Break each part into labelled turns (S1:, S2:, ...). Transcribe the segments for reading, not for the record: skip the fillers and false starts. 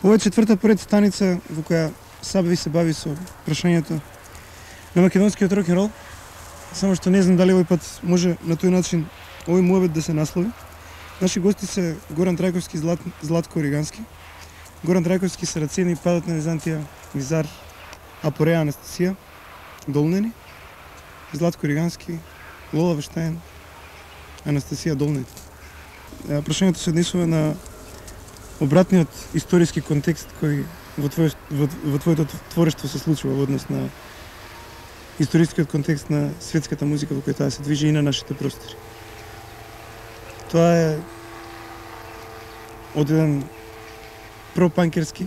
S1: Ова е четврта поред станица во која Сабви се бави со прашањето на македонскиот рок-н-рол, само што не знам дали овој пат може на тој начин овој муабет да се наслови. Наши гости се Горан Трајковски, Златко Оригански. Горан Трајковски, Сарацени, Падот на Византија, Визар, Апореја, Анастасија, Долнени. Златко Оригански, Лола Вештајн, Анастасија, Долнени. Прашањето се однесува на обратниот историски контекст кој во твоето творештво се случува во однос на историскиот контекст на светската музика во која таа се движи и на нашите простори. Тоа е од еден пропанкерски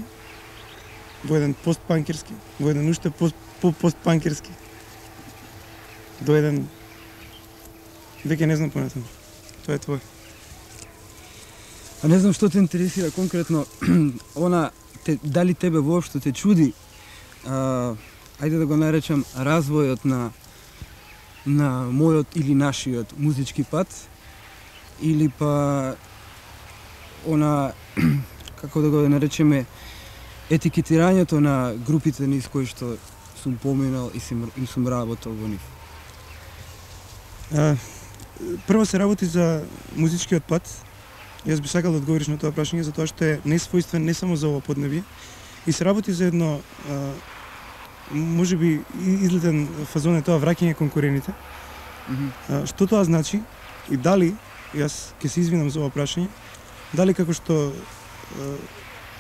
S1: во еден постпанкерски, во еден уште постпанкерски до еден веќе не знам понатаму. Тоа е твој.
S2: А не знам што те интересира конкретно, дали тебе воопшто те чуди, ајде да го наречам, развојот на мојот или нашиот музички пат, или па како да го наречеме, етикетирањето на групите низ кои што сум поминал и сум работел во нив.
S1: Прво се работи за музичкиот пат. Јас би сакал да одговориш на тоа прашање, затоа што е несвојствен не само за ова поднебие, и се работи за едно, можеби излетен фазон е тоа враќање кон корените. Што тоа значи и дали, јас ќе се извинам за ова прашање, дали како што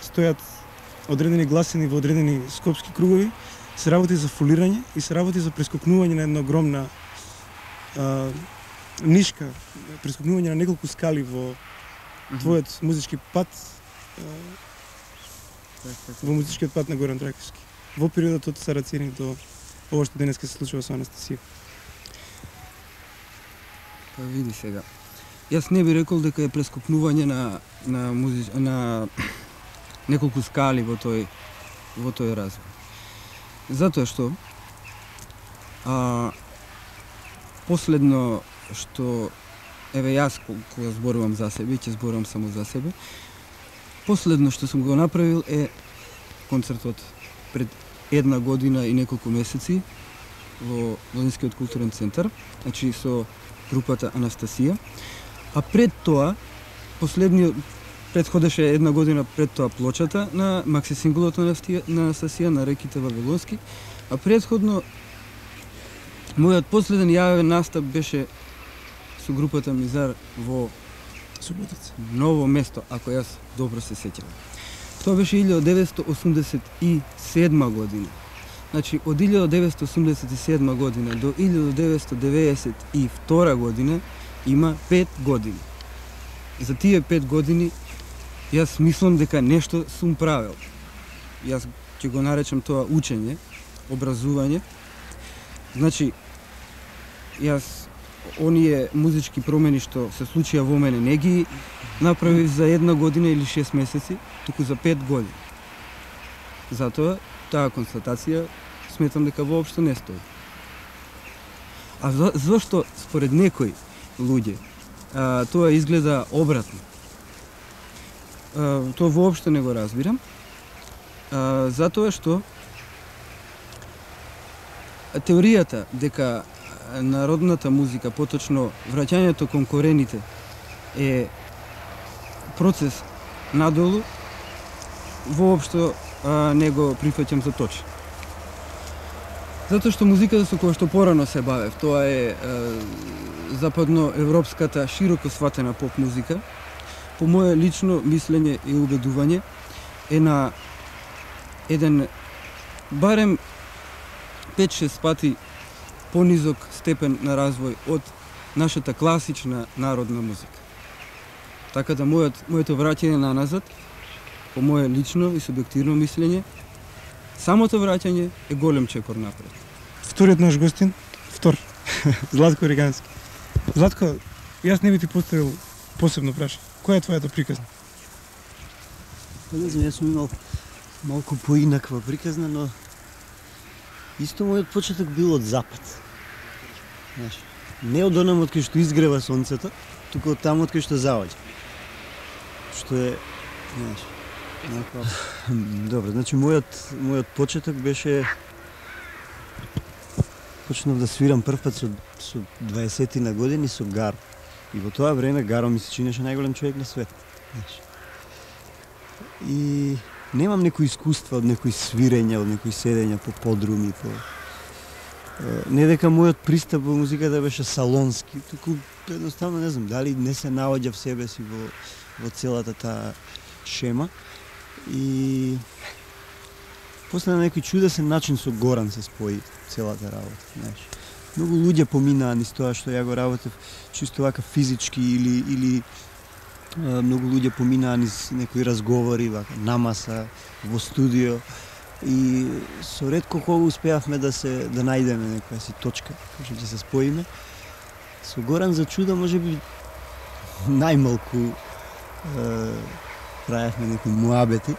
S1: стојат одредени гласини во одредени скопски кругови, се работи за фолирање и се работи за прескокнување на една огромна нишка, прескокнување на неколку скали во твојот музички пат, во музичкиот пат на Горан Трајковски, во периодот од Сарацени до ова што денеска се случува со Анастасија.
S2: Па види сега. Јас не би рекол дека е прескокнување на неколку скали во тој развој. Затоа што последно што еве јас кога зборувам за себе, ќе зборувам само за себе. Последно што сум го направил е концертот пред една година и неколку месеци во Лозинскиот културен центар, значи со групата Анастасија. А пред тоа, предходеше една година пред тоа плочата на макси синглот на Анастасија на Реките Вавилонски, а предходно мојот последен јавен настап беше со групата Мизар во
S1: Суботица.
S2: Ново место, ако јас добро се сеќавам. Тоа беше 1987 година. Значи, од 1987 година до 1992 година има 5 години. За тие 5 години јас мислам дека нешто сум правил. Јас ќе го наречам тоа учење, образување. Значи, јас оние музички промени што се случија во мене не ги направив за една година или 6 месеци, туку за 5 години. Затоа таа констатација сметам дека воопшто не стои. А зошто според некои луѓе тоа изгледа обратно? Тоа воопшто не го разбирам. Затоа што теоријата дека народната музика, поточно враќањето кон корените, е процес надолу, воопшто не го прифаќам за точно. Затоа што музиката со која што порано се бавев, тоа е западноевропската широко сватена поп музика, по моје лично мислење и убедување, е на еден барем 5-6 пати понизок степен на развој од нашата класична народна музика. Така да моето враќање на назад, по моје лично и субјективно мислење, самото враќање е голем чекор напред.
S1: Вториот наш гостин, Златко Оригански. Златко, јас не би ти поставил посебно прашање. Која е твојата приказна?
S3: Не знам, јас сум имал малку поинаква приказна, но исто мојот почеток бил од запад. Знаеш, не од онам од кај што изгрева сонцето, туку од таму од кај што заоѓа. Што е, знаеш, Добро, значи мојот почеток беше почнав да свирам прв пат со 20 на години со Гаро. И во тоа време Гаро ми се чинеше најголем човек на свет. Знаеш. И немам некои искуства од некои свирења, од некои седења по подруми, не дека мојот пристап во музиката беше салонски, туку едноставно не знам дали не се наоѓа в себе си во целата таа шема. И после на некој чудесен начин со Горан се спои целата работа, знаеш. Многу луѓе поминаа низ тоа што ја го работев чисто вака физички или многу луѓе поминаа низ некои разговори вака намаса во студио и со ретко кога успеавме да најдеме некоја си точка што ќе се споиме. Со Горан за чудо можеби најмалку правевме некои муабети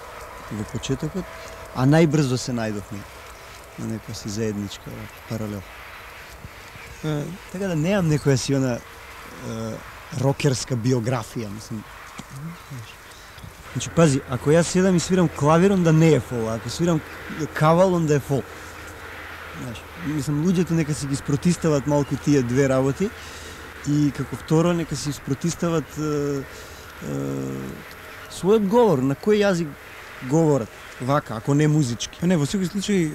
S3: во почетокот, а најбрзо се најдовме на некоја си заедничка паралел. Така да немам некоја си она рокерска биографија, мислам. Значи, пази, ако јас седам и свирам клавир, онда не е фол, ако свирам кавал, онда е фол. Знаеш, мислам, луѓето нека си ги спротистават малку тие две работи и како второ нека си спротистават својот говор, на кој јазик говорат, вака, ако не музички.
S1: Па не, во секој случај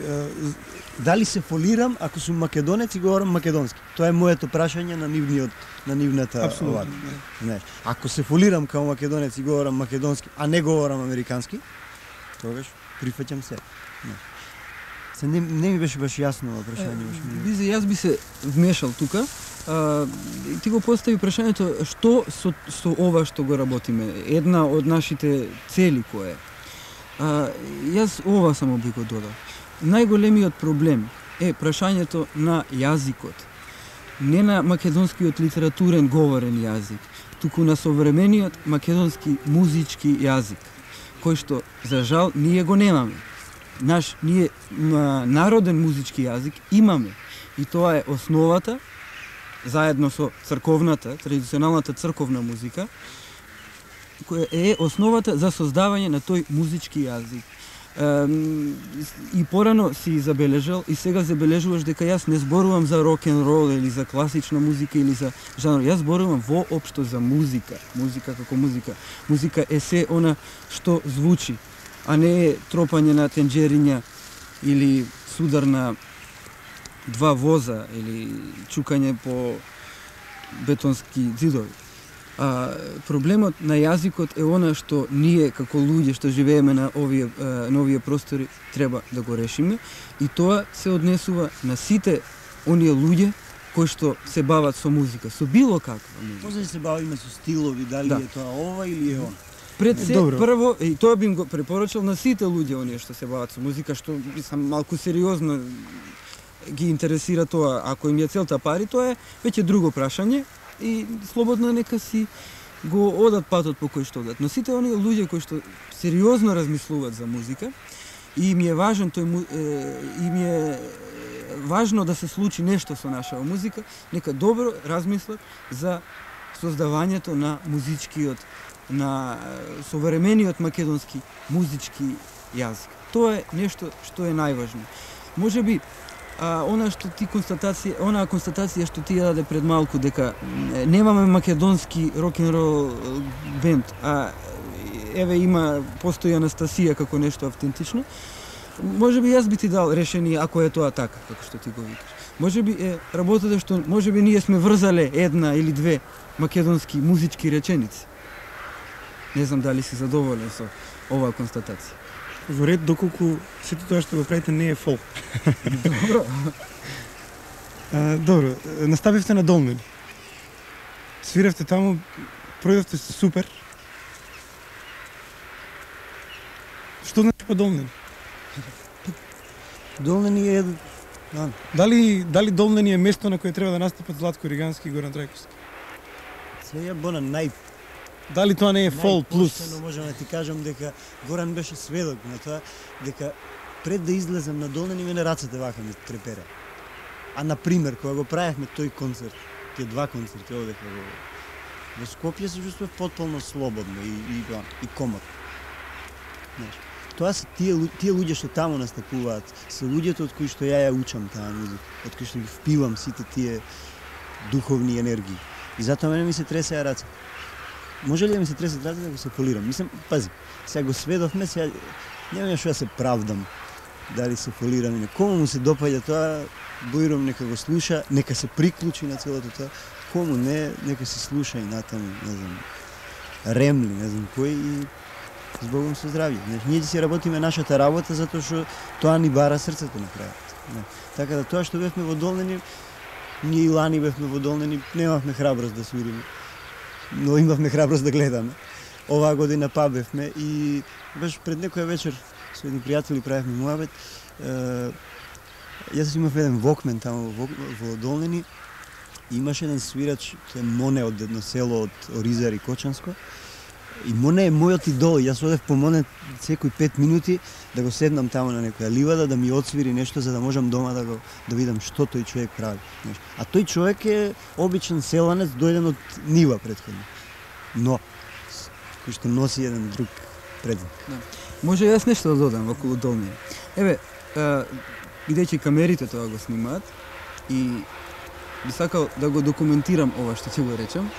S3: дали се фолирам ако сум македонец и говорам македонски? Тоа е моето прашање на нивната оваа. Знаеш, ако се фолирам како македонец и говорам македонски, а не говорам американски, тогаш прифаќам се. Се не ми беше баш јасно ова прашање.
S2: Бизе, јас би се вмешал тука. Ти го постави прашањето што со ова што го работиме, една од нашите цели која е. Јас ова само би го додал. Најголемиот проблем е прашањето на јазикот. Не на македонскиот литературен говорен јазик, туку на современиот македонски музички јазик, кој што за жал ние го немаме. Ние народен музички јазик имаме и тоа е основата заедно со црковната, традиционалната црковна музика, која е основата за создавање на тој музички јазик. И порано си забележал и сега забележуваш дека јас не зборувам за рок-н-рол или за класична музика или за жанр. Јас зборувам воопшто за музика. Музика како музика. Музика е се она што звучи, а не е тропање на тенџериња или судар на два воза или чукање по бетонски ѕидови. Проблемот на јазикот е она што ние како луѓе што живееме на овие простори треба да го решиме и тоа се однесува на сите оние луѓе кои што се бават со музика, со било каква музика.
S3: Може да се бавиме со стилови, дали е тоа ова или е она.
S2: Пред се прво, и тоа би го препорачал на сите луѓе оние што се бават со музика, што мислам малку сериозно ги интересира тоа, ако им е целта пари, тоа е веќе друго прашање и слободно нека си го одат патот по кој што одат. Но сите оние луѓе кои што сериозно размислуваат за музика и ми е важен важно да се случи нешто со нашава музика, нека добро размислат за создавањето на музичкиот, на современиот македонски музички јазик. Тоа е нешто што е најважно. Можеби онаа констатација што ти ја даде пред малку дека немаме македонски рок-н-рол бенд, а еве постои Анастасија како нешто автентично. Можеби јас би ти дал решение ако е тоа така, како што ти го викаш. Можеби е работата што можеби ние сме врзале една или две македонски музички реченици. Не знам дали си задоволен со оваа констатација.
S1: Во ред доколку сето тоа што го правите не е фол.
S2: Добро.
S1: Добро, наставивте на Долнени. Свиравте таму, пројдовте супер. Што значи па Долнени?
S3: Долнени е
S1: Дали Долнени е место на кое треба да настапат Златко Ригански и Горан Трајковски?
S3: Сега
S1: Дали тоа не е фол плюс?
S3: Најпоштено можам да ти кажам дека Горан беше сведок на тоа, дека пред да излезем на Долнени мене рацете вака ми трепереа. А например, кога го правевме тој концерт, тие два концерти овдека во Скопје, се чувствував потполно слободно и комот. Знаеш, тоа се тие луѓе што таму настапуваат, се луѓето од кои што ја учам таа музика, од кои што ги впивам сите тие духовни енергии. И затоа мене ми се тресеа раце. Може ли да ми се тресат раце да го се фолирам? Мислам, пази, сега го сведовме, сега немам што да се правдам дали се фолирам или не. Кому му се допаѓа тоа, Бојром нека го слуша, нека се приклучи на целото тоа. Кому не, нека се слуша и натаму, не знам, Ремли, не знам кој и збогом со здравје. Ние си работиме нашата работа затоа што тоа ни бара срцето на крајот. Така да тоа што бевме во Долнени, ние и лани бевме во Долнени, немавме храброст да свириме, но имавме храброст да гледаме. Оваа година па бевме и баш пред некоја вечер со едни пријатели правевме муабет. Јас имав еден вокмен таму во Долнени и имаше еден свирач, тој е Моне од едно село од Оризар и Кочанско. И Моне е мојот идол. Јас одев по Моне секој 5 минути да го седнам таму на некоја ливада, да ми отсвири нешто за да можам дома да видам што тој човек прави. А тој човек е обичен селанец, дојден од нива претходно. Но кој што носи еден друг предзвик.
S2: Да. Може јас нешто да додам околу Долни. Еве, бидејќи камерите тоа го снимаат и би сакал да го документирам ова што ќе го речам.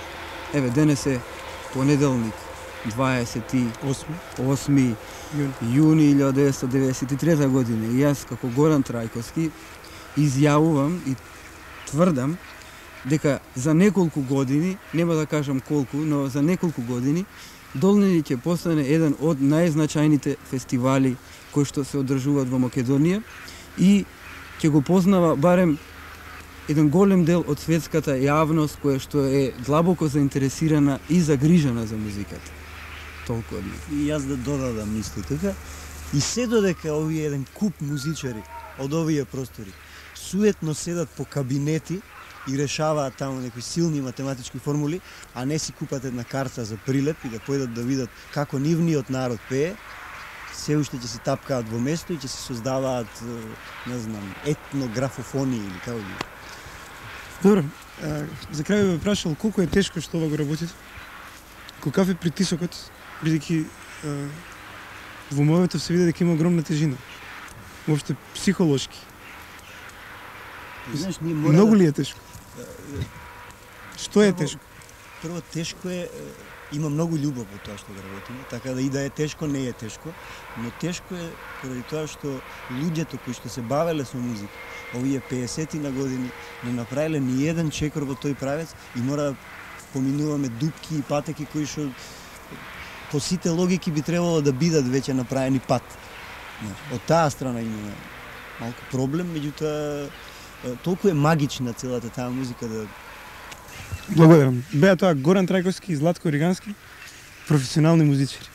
S2: Еве, денес е понеделник, 28 јуни 1993 година. И јас како Горан Трајковски изјавувам и тврдам дека за неколку години, нема да кажам колку, но за неколку години Долнени ќе постане еден од најзначајните фестивали кои што се одржуваат во Македонија и ќе го познава барем еден голем дел од светската јавност која што е длабоко заинтересирана и загрижена за музиката. Толку од мене.
S3: И јас да додадам исто така. И се додека овие еден куп музичари од овие простори суетно седат по кабинети и решаваат таму некои силни математички формули, а не си купат една карта за прилеп и да појдат да видат како нивниот народ пее, се уште ќе се тапкаат во место и ќе се создаваат, не знам, етнографофонии или како ги.
S1: Добро, за крај бе прашал колку е тешко што ова го работите? Каков е притисокот, бидејќи во мојот се види дека има огромна тежина. Воопште психолошки.
S3: Знаеш, ние
S1: многу ли е тешко? Што е тешко?
S3: Прво тешко е, има многу љубов во тоа што го работиме, така да и да е тешко, не е тешко, но тешко е поради тоа што луѓето кои што се бавеле со музика, овие 50 на години, не направиле ни еден чекор во тој правец и мора да поминуваме дупки и патеки кои што по сите логики би требало да бидат веќе направени пат. Од таа страна имаме малку проблем, меѓутоа толку е магична целата таа музика да...
S1: Благодарам. Беа тоа Горан Трајковски и Златко Ригански, професионални музичари.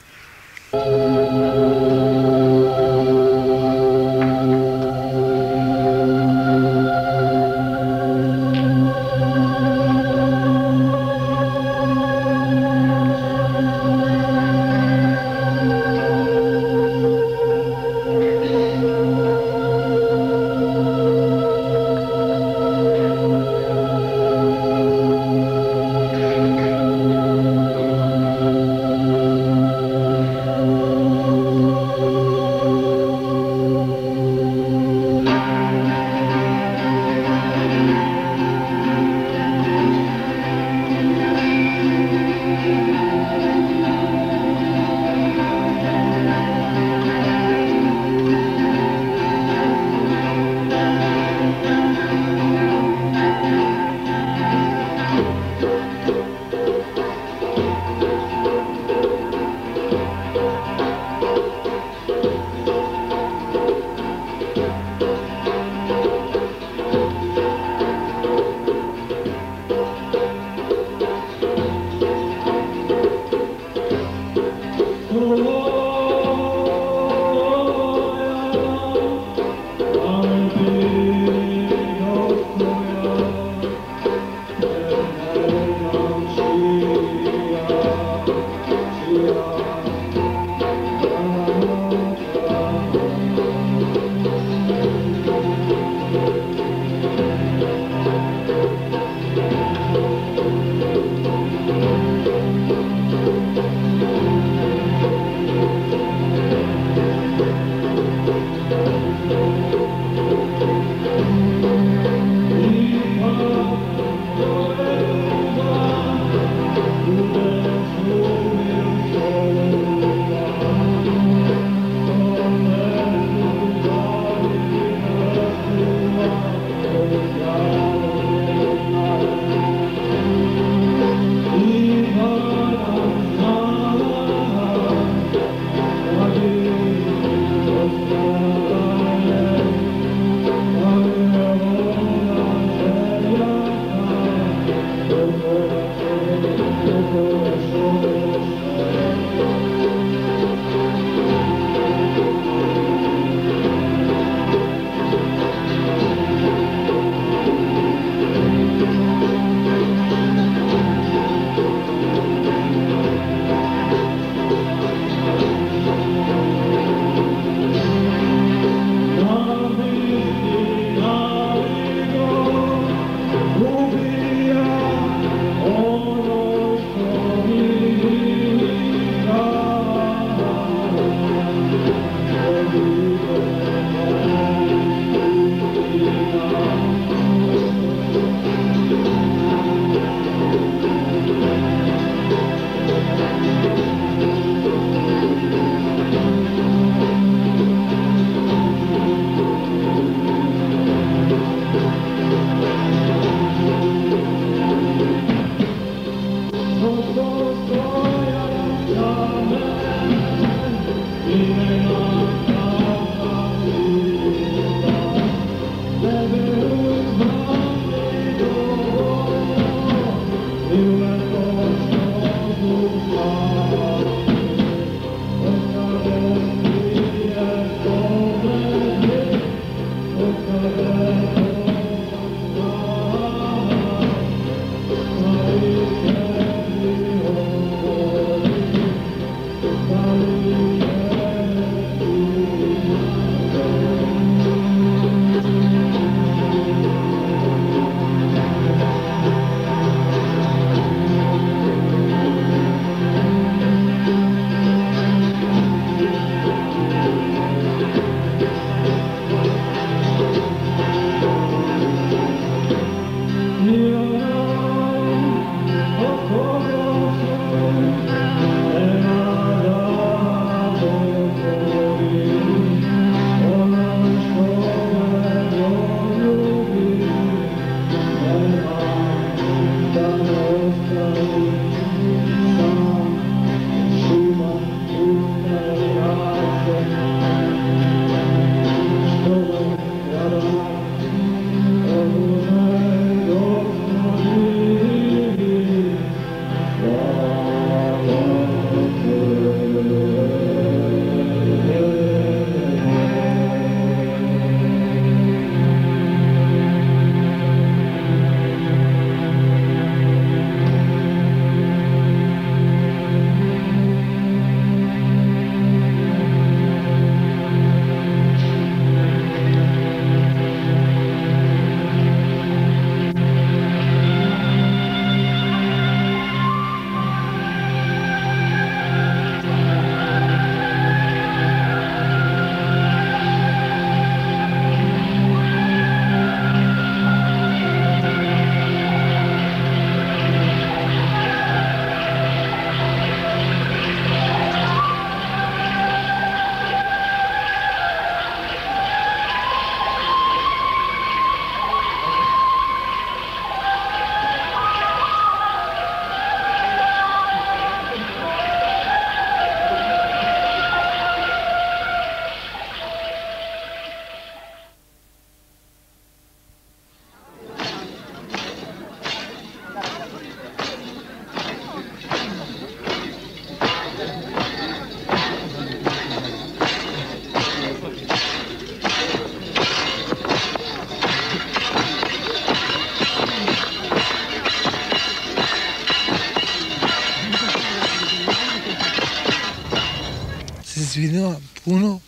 S4: извинува пуно.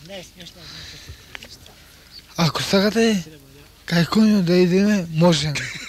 S4: Ако сакате кај коњу да идеме, можеме.